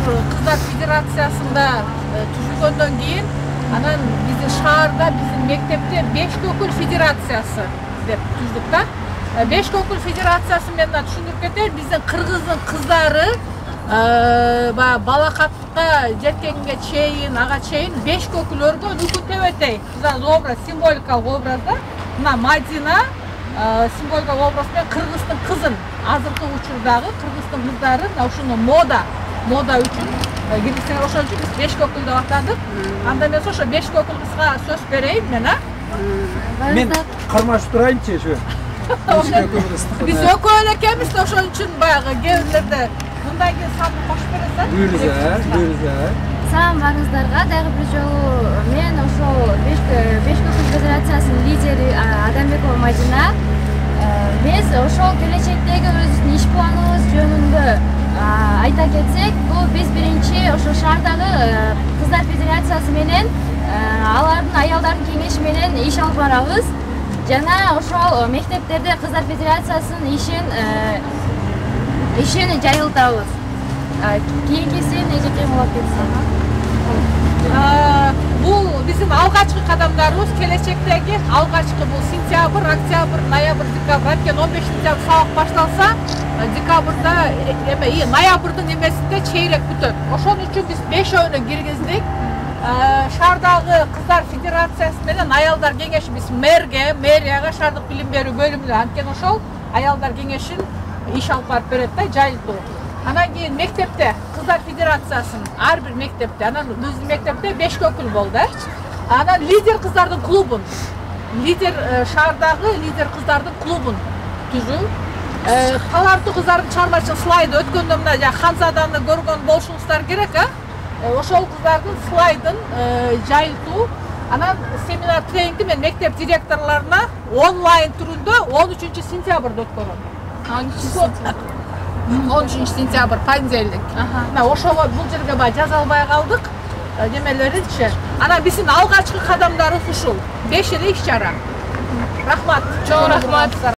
Кыздар Федерациясында түзүлгөндөн кийин анан биздин шаарда биздин мектепте Бешкөкүл Федерациясы деп түздүк да. Бешкөкүл Федерациясы менен түшүндүрүп кетейин, биздин кыргыздын кыздары балакатка жеткенге чейин, ага чейин Бешкөкүл өргөн үкү тебетей. Образ, символикалык образда. Мына Мадина символикалык образ менен кыргыздын кызын, азыркы учурдагы кыргыздын кыздары ушуну мода үчүн киргизсеңер ошон үчүн биз Бешкөкүл деп атадык. Анда эмес ошо Бешкөкүл кызга сөз берейин мен, Мен кармашып турайынчы ошо. Биз экөө эле экенбиз да, ошон үчүн баягы кээ мындан кийин саны кошуп бересиң. Буюрса. Салам барыңыздарга. Дагы бир жолу мен ошол Бешкөкүл Федерациясынын лидери Адамбекова Мадина. Биз ошол келечектеги өзүбүздүн иш планыбыз жөнүндө айта кетсек, бул биз биринчи ошо шаардагы Кыздар Федерациясы менен алардын аялдардын кеңеши менен иш алып барабыз. Жана ошол мектептерде Кыздар Федерациясынын ишин жайылтабыз. Кийинкиси эжеке болуп кетсин. Бул биздин алгачкы кадамдарыбыз, келечектеги алгачкы бул сентябрь, октябрь, ноябрь, декабрь. Анткени 15 сентябрь сабак башталса, декабрда ноябрдын эмесинде чейрек бүтөт. Ошон үчүн биз 5-өөнү киргиздик. Шаардагы Кыздар Федерациясы менен аялдар кеңеши биз мэрияга, шаардык билим берүү бөлүмүнө, анткени ошол аялдар кеңешин иш алып барып берет да, жайылтуу. Анан кийин мектепте Кыздар Федерациясын ар бир мектепте, анан биздин мектепте Бешкөкүл болду. Анан лидер кыздардын клубун, шаардагы лидер кыздардын клубун түзүү. Таларттуу кыздардын чыгармачылык слайды өткөндө мына Ханзаданы көргөн болушуңуздар керек, ошол кыздардын слайдын жайылтуу. Анан семинар тренингди мен мектеп директорлоруна онлайн түрүндө 13 сентябрда өткөрөм. 13 сентябрь понедельник. Ошого бул жерге жаза албай калдык. Немелеринчи. Анан биздин алгачкы кадамдарыбыз ушул. 5 эле иш чара. Рахмат. Чоң рахмат.